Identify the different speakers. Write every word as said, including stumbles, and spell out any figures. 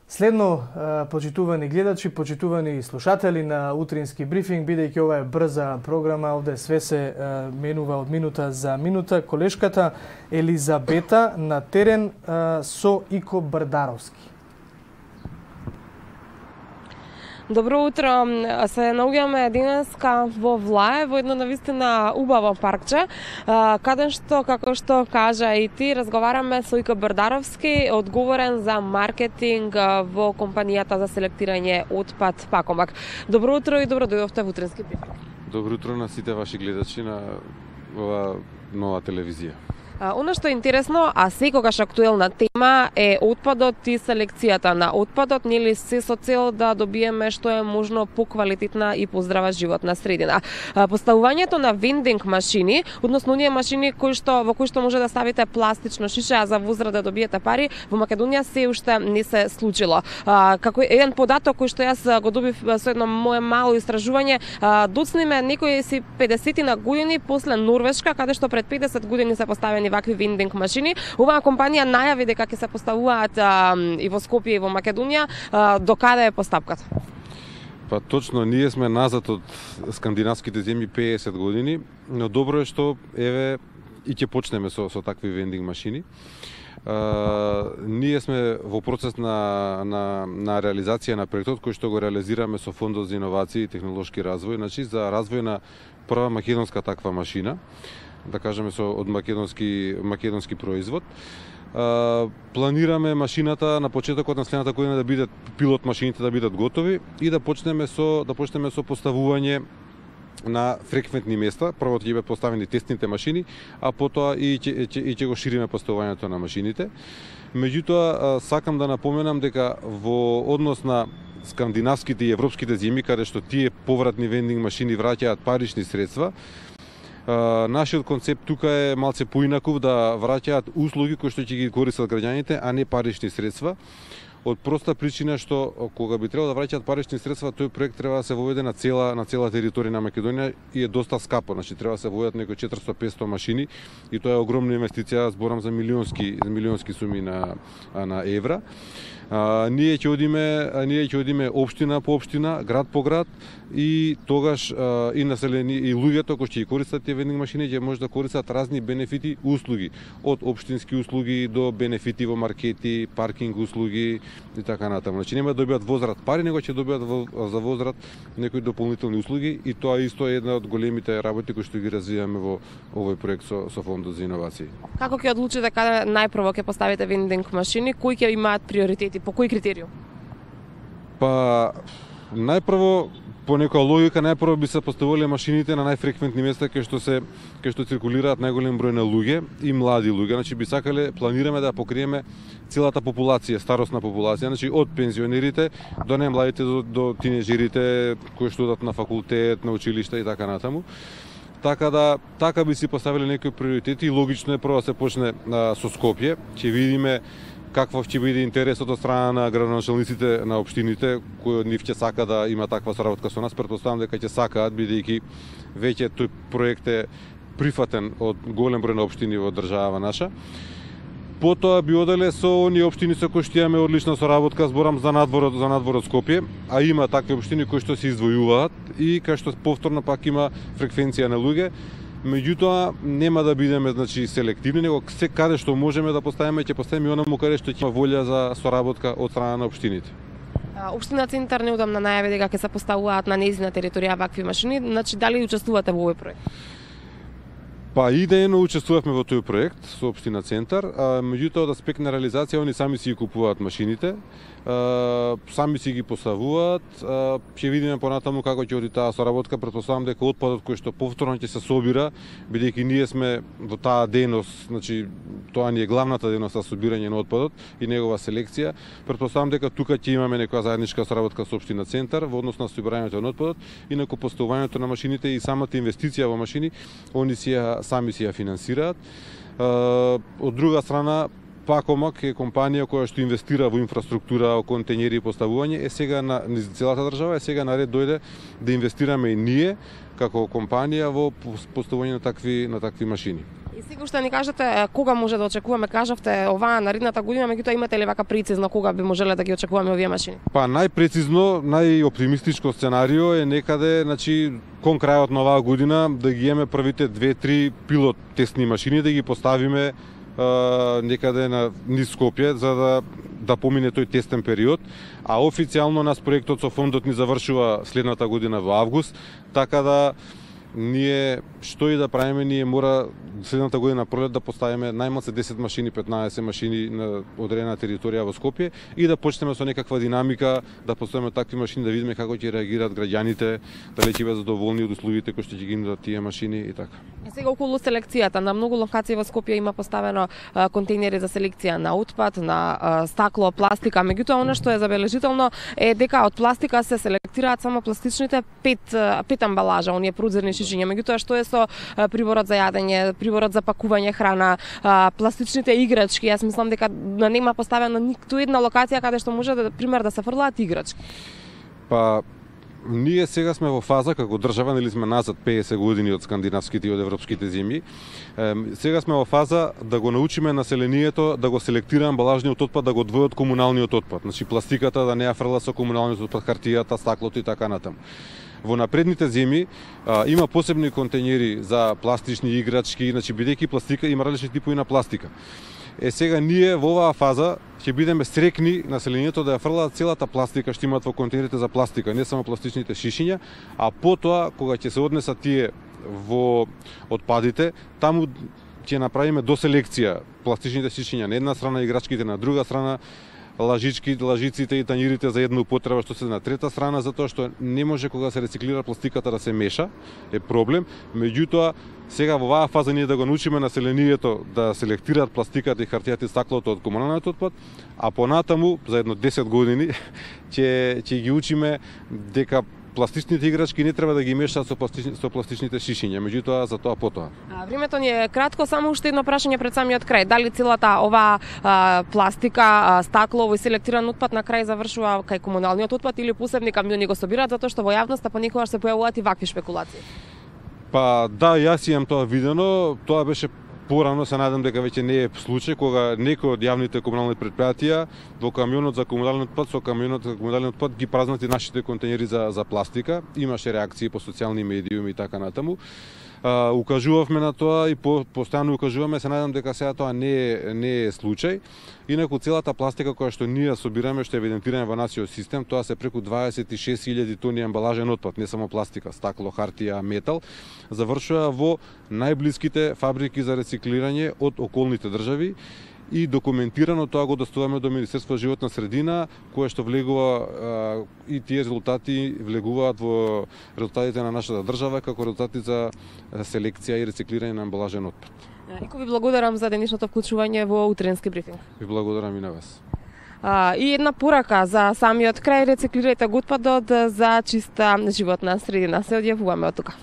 Speaker 1: Следно, почитувани гледачи, почитувани слушатели на утрински брифинг, бидејќи ова е брза програма, овде све се менува од минута за минута. Колешката Елизабета на терен со Ико Брдаровски.
Speaker 2: Добро утро. Се наоѓаме денеска во Влае, во едно навистина убаво паркче, каде што, како што кажа и ти, разговараме со Ико Брдаровски, одговорен за маркетинг во компанијата за селектирање отпад Пакомак. Добро утро и добро дојдовте во утрински брифинг.
Speaker 3: Добро утро на сите ваши гледачи на ова нова телевизија.
Speaker 2: Оно што е интересно, а секогаш актуелна тема е отпадот и селекцијата на отпадот, нели се со цел да добиеме што е можно поквалитетна и поздрава животна средина. Поставувањето на вендинг машини, односно оние машини кои што во кои што може да ставите пластично шише, а за возврат да добиете пари, во Македонија се уште не се случило. Како еден податок кој што јас го добив со едно мое мало истражување, доцниме некои си педесетина години после Норвешка, каде што пред педесет години се поставени вакви вендинг машини. Оваа компанија најави дека ќе се поставуваат а, и во Скопје и во Македонија. А, до каде е постапката?
Speaker 3: Па точно, ние сме назад од скандинавските земји педесет години, но добро е што еве и ќе почнеме со со такви вендинг машини. Uh, ние сме во процес на, на, на реализација на проектот кој што го реализираме со Фондот за иновации и технолошки развој, значи за развој на прва македонска таква машина, да кажеме со од македонски македонски производ. Uh, планираме машината на почетокот на следната година да бидат пилот машините да бидат готови и да почнеме со да почнеме со поставување на фреквентни места. Прво ќе бидат поставени тестните машини, а потоа и ќе и ќе го шириме поставувањето на машините. Меѓутоа, сакам да напоменам дека во однос на скандинавските и европските земји, каде што тие повратни вендинг машини враќаат парични средства, нашиот концепт тука е малце поинаков, да враќаат услуги кои што ќе ги користат граѓаните, а не парични средства. Од проста причина што кога би требало да враќаат парични средства, тој проект треба да се воведе на цела на цела територија на Македонија и е доста скапо, значи треба да се воведат некои четиристо до петстотини машини и тоа е огромна инвестиција, зборам за милионски милионски суми на на евра. А, ние ќе одиме, а, ние ќе одиме општина по општина, град по град и тогаш а, и населени и луѓето кои ќе ги користат тие вендинг машини ќе може да користат разни бенефити, услуги, од општински услуги до бенефити во маркети, паркинг услуги и така натаму. Значи нема да добијат возврат пари, него ќе добијат во, за возврат некои дополнителни услуги и тоа исто е една од големите работи кои што ги развиваме во овој проект со со Фондот за иновации.
Speaker 2: Како ќе одлучите каде најпрво ќе поставите вендинг машини, кои ќе имаат приоритети? По кој критериум?
Speaker 3: Па, најпрво, по некоја логика, најпрво би се поставувале машините на најфреквентни места кај што се кај што циркулираат најголем број на луѓе и млади луѓе. Значи би сакале, планираме да покриеме целата популација, старосна популација, значи од пензионерите до најмладите до, до тинеџерите кои што одат на факултет, на училишта и така натаму. Така да така би си поставиле некои приоритети и логично е прво да се почне а, со Скопје. Ќе видиме каков ќе биде интересот од страна на градоначалниците на општините, кои од нив ќе сака да има таква соработка со нас. Претпоставам дека ќе сакаат, бидејќи веќе тој проект е прифатен од голем број на општини во држава наша. Потоа би оделе со оние општини со кои што имаме одлична соработка, зборам за надворот, за надворот Скопје, а има такви општини кои што се издвојуваат и кај што повторно пак има фреквенција на луѓе. Меѓутоа нема да бидеме значи селективни, него се каде што можеме да поставиме, ќе поставиме онаму каде што ќе има волја за соработка од страна на општините.
Speaker 2: Општина Центар неодамна најави дека ќе се поставуваат на нејзина територија вакви машини, значи дали учествувате во овој проект?
Speaker 3: Па идејно учествувавме во тој проект со општина Центар, а меѓутоа од аспект на реализација они сами си ги купуваат машините, а, сами си ги поставуваат, а, ќе видиме понатаму како ќе оди таа соработка. Претпоставам дека отпадот кој што повторно ќе се собира, бидејќи ние сме во таа дејност, значи тоа ни е главната дејност за собирање на отпадот и негова селекција. Претпоставам дека тука ќе имаме некоја заедничка соработка со општина Центар во однос на собирањето на отпадот, инаку поставувањето на машините и самата инвестиција во машини, они си ја сами си ја финансираат. Од друга страна, Пакомак е компанија која што инвестира во инфраструктура, контењери и поставување, е сега на целата држава, е сега на ред дојде да инвестираме и ние како компанија во поставување на такви на такви машини.
Speaker 2: И сега што ни кажете кога може да очекуваме, кажавте оваа наредната година, меѓутоа имате ли вака прецизно кога би можеле да ги очекуваме овие машини?
Speaker 3: Па најпрецизно, најоптимистичко сценарио е некаде, значи кон крајот на оваа година да ги имаме првите две-три пилот тестни машини да ги поставиме Uh, некаде на низ Скопје за да да помине тој тестен период, а официјално нас проектот со фондот ни завршува следната година во август, така да ние што и да правиме, ние мора следната година пролет да поставиме најмалку десет машини, петнаесет машини на одредена територија во Скопје и да почнеме со некаква динамика, да поставиме такви машини, да видиме како ќе реагираат граѓаните, дали ќе бидат задоволни од услугите кои што ќе ги нудат тие машини и така.
Speaker 2: И сега околу селекцијата, на многу локации во Скопје има поставено а, контейнери за селекција на отпад, на а, стакло, пластика, меѓутоа она што е забележително е дека од пластика се селектираат само пластичните пет пет амбалажа, оние прозирни шишиња, меѓутоа што е со а, приборот за јадење, приборот за пакување храна, а, пластичните играчки, јас мислам дека нема поставено ниту една локација каде што може да пример да се фрлаат играчки.
Speaker 3: Па ние сега сме во фаза како држава, нели сме назад педесет години од скандинавските и од европските земји. Е, сега сме во фаза да го научиме населението да го селектира амбалажниот отпад, да го одвои од комуналниот отпад. Значи пластиката да не ја фрла со комуналниот отпад, хартијата, стаклото и така натаму. Во напредните земји а, има посебни контейнери за пластични играчки, значи бидејќи пластика има различни типови на пластика. Е сега ние во оваа фаза ќе бидеме срекни населението да ја фрлаат целата пластика што имаат во контейнерите за пластика, не само пластичните шишиња, а потоа кога ќе се однесат тие во отпадите, таму ќе направиме доселекција пластичните шишиња на една страна, играчките на друга страна, лажички, лажиците и тањирите за една употреба што се на трета страна, затоа што не може кога се рециклира пластиката да се меша, е проблем. Меѓутоа, сега во оваа фаза ние да го научиме населението да селектираат пластиката и хартијата и стаклото од комуналниот отпад, а понатаму за едно десет години ќе ќе ги учиме дека пластичните играчки не треба да ги мешаат со, пластични, со пластичните шишиња, меѓутоа за тоа потоа.
Speaker 2: А, времето ни е кратко, само уште едно прашање пред самиот крај. Дали целата оваа а, пластика, а, стакло и селектиран отпад на крај завршува кај комуналниот отпад или посебни камиони го собираат, затоа што во јавноста понекогаш се појавуваат и вакви шпекулации?
Speaker 3: Па да, јас имам тоа видено, тоа беше порано, се надам дека веќе не е случај кога некој од јавните комунални претпријатија во камионот за комунален отпад со камионот за комунален отпад ги празнати нашите контейнери за за пластика. Имаше реакции по социјални медиуми и така натаму. Uh, укажувавме на тоа и по, постојано укажуваме, се надам дека сега тоа не е, не е случај. Инаку целата пластика која што ние собираме, што е евидентирана во нашиот систем, тоа се преку дваесет и шест илјади тони амбалажен отпад, не само пластика, стакло, хартија, метал, завршува во најблиските фабрики за рециклирање од околните држави и документирано тоа го доставуваме до Министерство за животна средина, кое што влегува а, и тие резултати влегуваат во резултатите на нашата држава како резултати за селекција и рециклирање на амбалажен отпад.
Speaker 2: Ико ви благодарам за денешното вклучување во утренски брифинг.
Speaker 3: Ви благодарам и на вас.
Speaker 2: А, и една порака за самиот крај, рециклирајте го отпадот за чиста животна средина. Се одјавуваме од тука.